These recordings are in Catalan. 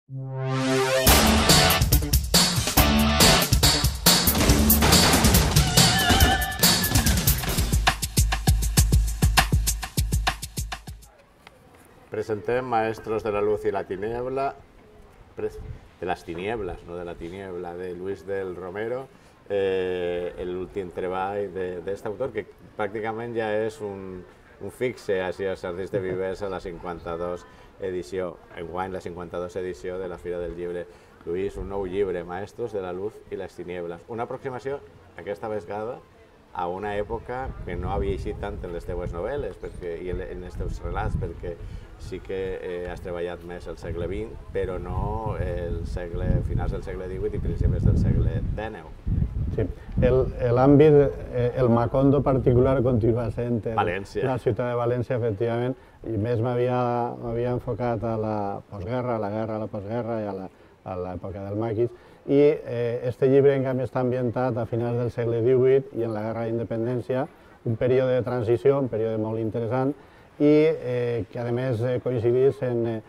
Presentem Maestros de la Luz y la Tiniebla, de las Tinieblas, no de la Tiniebla, de Luis del Romero, l'últim treball d'aquest autor, que pràcticament ja és un fixe així als Jardins de Vivers a la 52 edició, enguany la 52 edició de la Fira del Llibre. Lluís, un nou llibre, Maestros de la Luz i les Tinieblas. Una aproximació, aquesta vegada, a una època que no havia eixit tant en les teues novel·les i en els teus relats, perquè sí que has treballat més al segle XX, però no finals del segle XVIII i principis del segle XIX. Sí, l'àmbit, el Macondo particular continua sent la ciutat de València, efectivament, i més m'havia enfocat a la postguerra, a la guerra, a la postguerra i a l'època del maquis, i este llibre, en canvi, està ambientat a finals del segle XVIII i en la Guerra d'Independència, un període de transició, un període molt interessant, i que, a més, coincidís en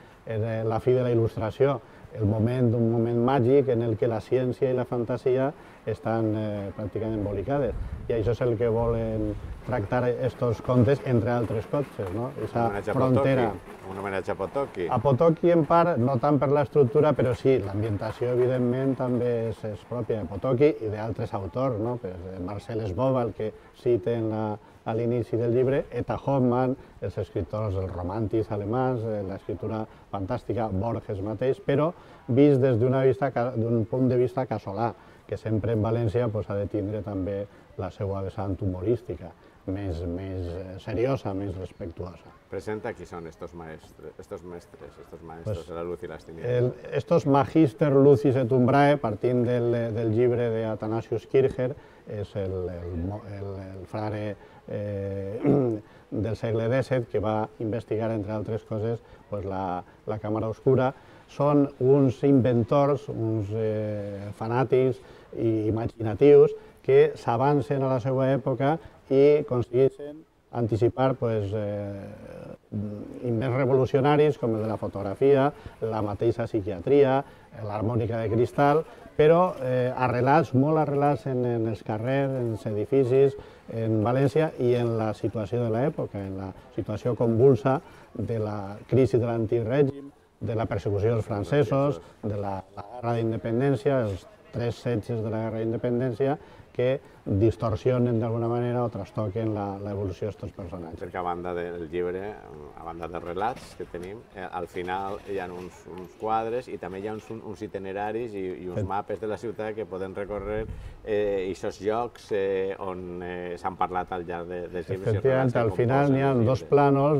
la fi de la Il·lustració, un moment màgic en el que la ciència i la fantasia estan pràcticament embolicades. I això és el que volen tractar aquests contes, entre altres coses, no? Aquesta frontera. Un homenatge a Potocki. A Potocki, en part, no tant per l'estructura, però sí, l'ambientació, evidentment, també és pròpia de Potocki i d'altres autors, no? Marcel Esbova, el que citen a l'inici del llibre, Eta Hoffmann, els escriptors, els romàntics alemans, l'escriptura fantàstica, Borges mateix, però vist des d'un punt de vista casolà, que sempre en València ha de tindre també la seva vessant humorística, més seriosa, més respectuosa. Presenta qui són estos mestres de la luz i les tinieblas. Estos Magister Lucis et Umbrae, partint del llibre d'Athanasius Kircher, és el frare del segle XVII que va investigar, entre altres coses, la càmera oscura. Són uns inventors, uns fanàtics i imaginatius que s'avancen a la seva època i aconsegueixen anticipar invents revolucionaris com el de la fotografia, la mateixa psiquiatria, l'harmònica de cristal, però arrelats, molt arrelats en els carrers, en els edificis, en València i en la situació de l'època, en la situació convulsa de la crisi de l'antic règim, de la persecució dels francesos, de la guerra d'independència, els 3 setges de la guerra d'independència, que distorsionen d'alguna manera o trastoquen l'evolució d'aquests personatges. Perquè a banda del llibre, a banda dels relats que tenim, al final hi ha uns quadres i també hi ha uns itineraris i uns mapes de la ciutat que poden recórrer aquests llocs on s'han parlat al llarg dels llibres. Efectivament, al final n'hi ha dos planos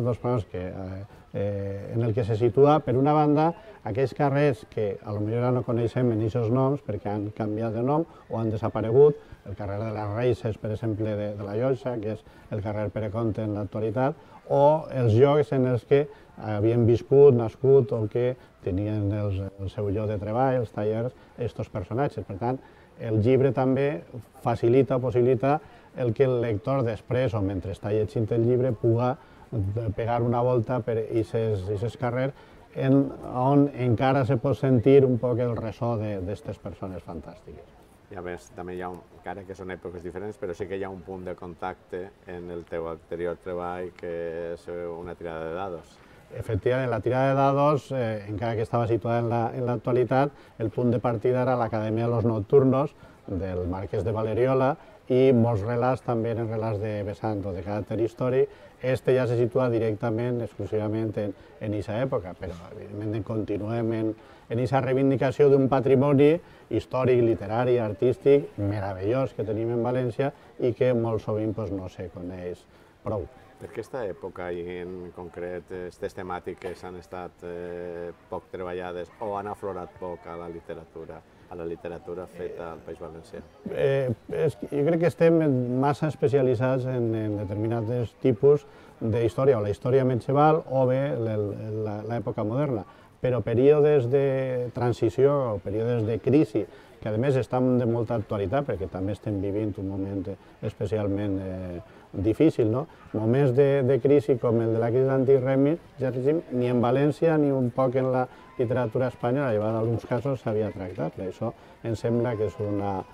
en el que se situa, per una banda, aquells carrers que potser ara no coneixem en aquests noms perquè han canviat de nom o han desaparegut, el carrer de les Reixes, per exemple, de la Llotja, que és el carrer Pere Comte en l'actualitat, o els llocs en els que havien viscut, nascut o que tenien el seu lloc de treball, els tallers, aquests personatges. Per tant, el llibre també possibilita el que el lector després o mentre està llegint el llibre puga pegar una volta per aquests carrers on encara se pot sentir un poc el ressò d'aquestes persones fantàstiques. I a més, també hi ha, encara que són èpoques diferents, però sí que hi ha un punt de contacte en el teu anterior treball, que és una tirada de dados. Efectivament, la tirada de dados, encara que estava situada en l'actualitat, el punt de partida era l'Acadèmia de los Nocturnos, del Marquès de Valeriola, i molts relats també eren relats de vessant o de caràcter històric. Este ja se situa directament, exclusivament en aquesta època, però evidentment continuem en aquesta reivindicació d'un patrimoni històric, literari, artístic, meravellós que tenim en València i que molt sovint no se coneix prou. Per aquesta època i en concret aquestes temàtiques han estat poc treballades o han aflorat poc a la literatura feta al País Valencià? Jo crec que estem massa especialitzats en determinats tipus d'història, o la història medieval o bé l'època moderna, però períodes de transició o períodes de crisi, que a més estan de molta actualitat perquè també estem vivint un moment especialment difícil, no? Moments de crisi com el de la crisi d'antic règim, ni en València ni un poc en la literatura espanyola, en alguns casos s'havia tractat. Per això em sembla que és una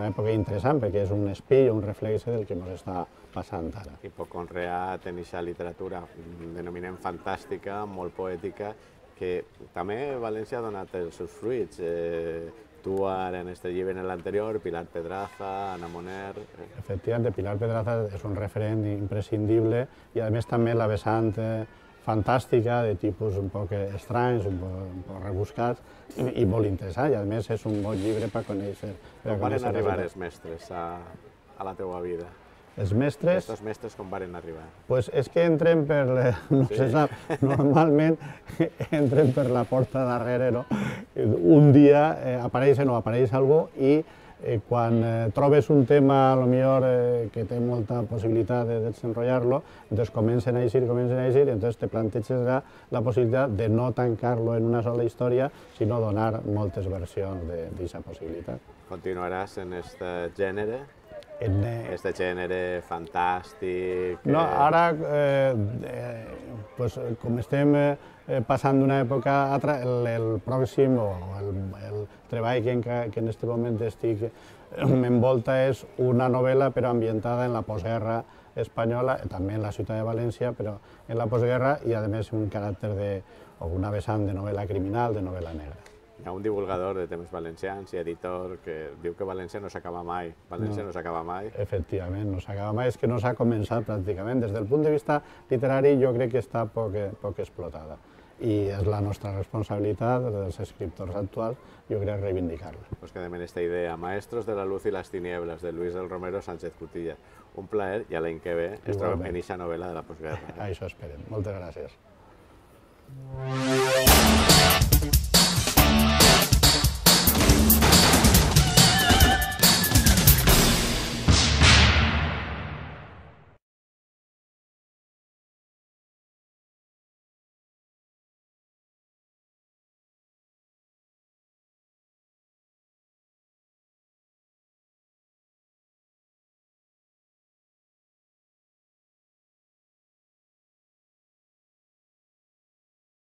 època interessant, perquè és un espill, un reflex del que ens està passant ara. Hipoconreat en aquesta literatura, denominem fantàstica, molt poètica, que també València ha donat els seus fruits. Tu ara en este llibre, en l'anterior, Pilar Pedraza, Ana Moner... Efectivament, Pilar Pedraza és un referent imprescindible i a més també la vessant fantàstica, de tipus un poc estranys, un poc rebuscats i molt interessant, i a més és un bon llibre per conèixer. Com van arribar els mestres a la teua vida? Els mestres... Aquests mestres com van arribar? Pues és que entren per... no se sap, normalment entren per la porta darrere, no? Un dia apareix o no apareix algú i quan trobes un tema, potser que té molta possibilitat de desenrotllar-lo, doncs comencen a eixir, i entonces te planteges la possibilitat de no tancar-lo en una sola història, sinó donar moltes versions d'aquesta possibilitat. Continuaràs en aquest gènere? Este gènere fantàstic... No, ara, com estem passant d'una època a altra, el pròxim o el treball que en aquest moment m'envolta és una novel·la però ambientada en la postguerra espanyola, també en la ciutat de València, però en la postguerra i a més un caràcter una vessant de novel·la criminal, de novel·la negra. Hi ha un divulgador de temes valencians i editor que diu que València no s'acaba mai. València no s'acaba mai. Efectivament, no s'acaba mai, és que no s'ha començat pràcticament. Des del punt de vista literari jo crec que està poc explotada. I és la nostra responsabilitat, dels escriptors actuals, jo crec reivindicar-la. Pues quedem en esta idea. Maestros de la luz y las tinieblas, de Luis del Romero Sánchez Cutilla. Un plaer i a l'any que ve ens trobem en aquesta novel·la de la postguerra. Això esperem. Moltes gràcies.